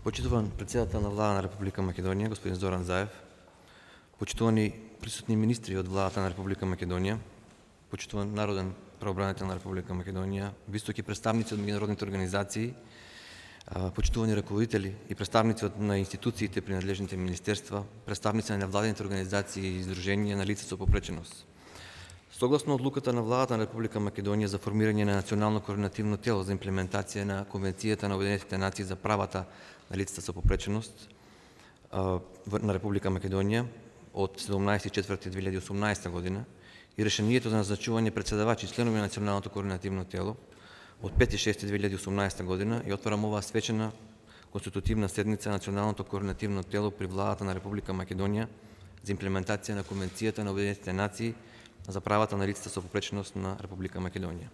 Почитуван председател на Влада на Република Македонија, господин Зоран Заев, почитувани присутни министри од Владата на Република Македонија, почитуван народен правобранител на Република Македонија, високи представници од меѓународните организации, почитувани раководители и представници на институциите при надлежните министерства, представници на невладените организации и издруженија на лица со попреченост. Согласно одлуката на Владата на Република Македонија за формирање на национално координативно тело за имплементација на Конвенцијата на Обединетите нации за правата на лицата со попреченост на Република Македонија од 17.4.2018 година и решението за назначување председавачи и членови на националното координативно тело од 5.6.2018 година и отварам оваа свечена конститутивна седница на националното координативно тело при Владата на Република Македонија за имплементација на Конвенцијата на Обединетите нации за правата на лицата со попреченост на Република Македонија.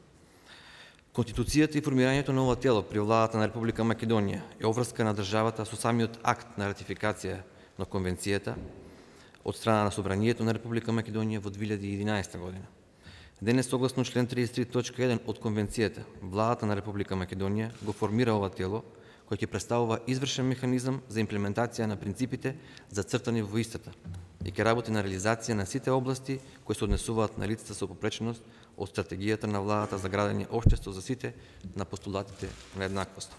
Конституцијата и формирањето на ова тело при Владата на Република Македонија е обврска на државата со самиот акт на ратификација на Конвенцијата од страна на Собранието на Република Македонија во 2011 година. Денес, согласно член 33.1 од Конвенцијата, Владата на Република Македонија го формира ова тело, кој ќе представува извршен механизам за имплементација на принципите зацртани во истата и ќе работи на реализација на сите области кои се однесуваат на лицата со попреченост од стратегијата на Владата за градење општество за сите на постулатите на еднаквост.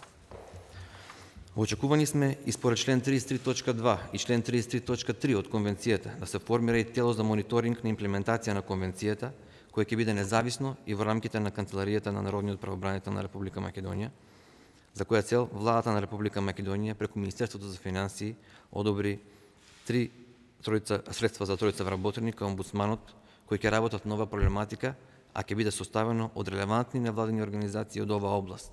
Во очекување сме и според член 33.2 и член 33.3 од Конвенцијата да се формира и тело за мониторинг на имплементација на Конвенцијата, кој ќе биде независно и во рамките на Канцеларијата на Народниот правобранител на Република Македонија, за која цел Владата на Република Македонија преку Министерството за финансии одобри средства за тројца вработени кај омбудсманот, кои ќе работат нова проблематика, а ќе биде составено од релевантни невладени организации од оваа област.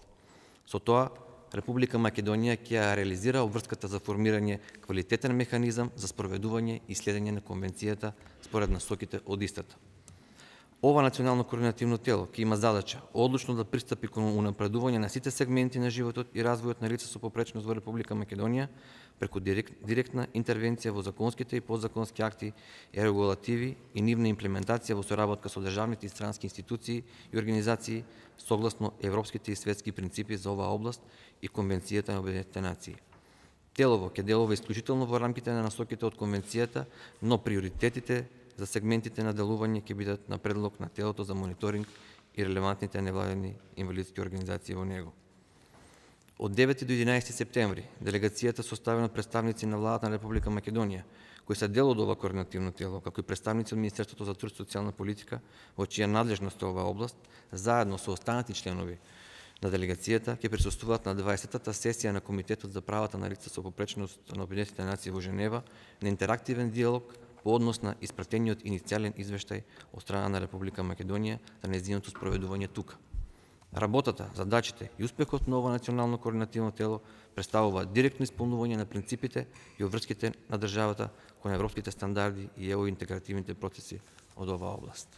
Со тоа, Република Македонија ќе реализира обврската за формирање квалитетен механизам за спроведување и следење на Конвенцијата според насоките од истата. Ова национално координативно тело ќе има задача одлучно да пристапи кон унапредување на сите сегменти на животот и развојот на лица со попреченост во Република Македонија преку директна интервенција во законските и подзаконски акти и регулативи и нивна имплементација во соработка со државните и странски институции и организации согласно европските и светски принципи за оваа област и Конвенцијата на Обединетите нации. Телово ќе делува исклучително во рамките на насоките од Конвенцијата, но приоритетите за сегментите на делување ќе бидат на предлог на телото за мониторинг и релевантните невладени инвалидски организации во него. Од 9 до 11 септември делегацијата составена од представници на Владата на Република Македонија, кои се дел од ова координативно тело, како и представници од Министерството за труд и социјална политика, во чија надлежност е оваа област, заедно со останати членови на делегацијата ќе присуствуваат на 20-та сесија на Комитетот за правата на лица со попреченост на Обединетите нации во Женева на интерактивен диалог по однос на испратениот иницијален извештај од страна на Република Македонија за нејзиното спроведување тука. Работата, задачите и успехот на ова национално координативно тело представува директно исполнување на принципите и обврските на државата кон европските стандарди и интегративните процеси од оваа област.